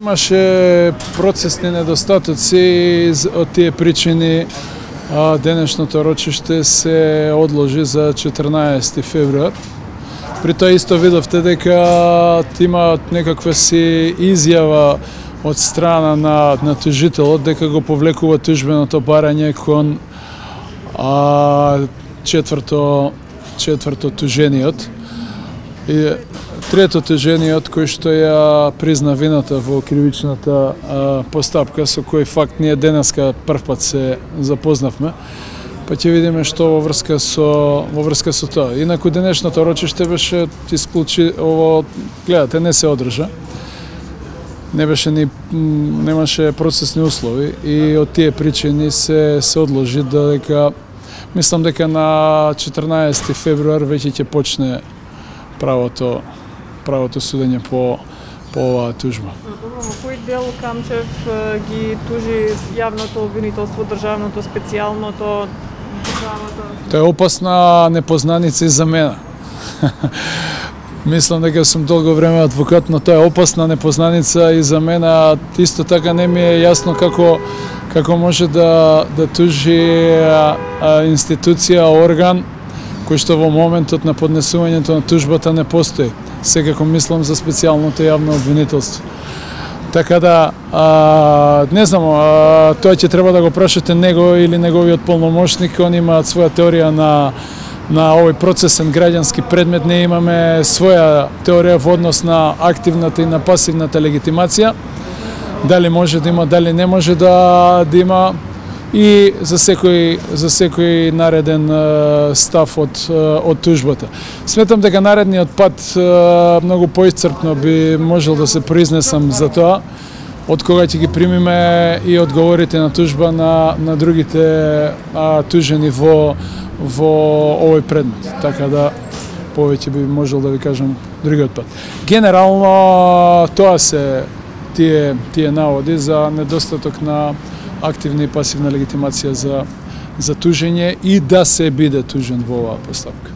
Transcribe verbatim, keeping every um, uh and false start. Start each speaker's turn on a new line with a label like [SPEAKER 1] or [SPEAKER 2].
[SPEAKER 1] Имаше процесни недостатоци, од тие причини денешното рочиште се одложи за четрнаесети февруар. При тоа исто видовте дека имаат некаква си изјава од страна на, на тужителот дека го повлекува тужбеното барање кон а, четврто, четврто тужениот. И трето тужениот кој што ја призна вината во кривичната а, постапка, со кој факт ние денеска првпат се запознавме, па ќе видиме што во врска со во врска со тоа. Инаку денешното рочиште беше исклучи ово, гледате, не се одржа. Не беше ни немаше процесни услови и од тие причини се се одложи додека мислам дека на четрнаесети февруар веќе ќе почне правото правото судење по по оваа тужба.
[SPEAKER 2] Во кој дел Камчев ги тужи јавното обвинителство, државното, специјалното, државата?
[SPEAKER 1] Тоа е опасна непознаница и за мене. Мислам дека сум долго време адвокат, но тоа е опасна непознаница и за мене. Исто така не ми е јасно како како може да да тужи а, а, институција, орган кој што во моментот на поднесувањето на тужбата не постои. Секако мислам за специјалното јавно обвинителство. Така да, а, не знам, а, тоа ќе треба да го прашате него или неговиот полномошник. Они имаат своја теорија на на овој процесен граѓански предмет. Не имаме своја теорија во однос на активната и на пасивната легитимација. Дали може да има, дали не може да, да има. И за секој за секој нареден uh, став од uh, од тужбата. Сметам дека наредниот пат uh, многу поисцрпно би можел да се произнесам за тоа, од кога ќе ги примиме и одговорите на тужба на на другите uh, тужени во во овој предмет. Така да повеќе би можел да ви кажам другиот пат. Генерално тоа се тие тие наводи за недостаток на активна и пасивна легитимација за, за тужење и да се биде тужен во оваа постапка.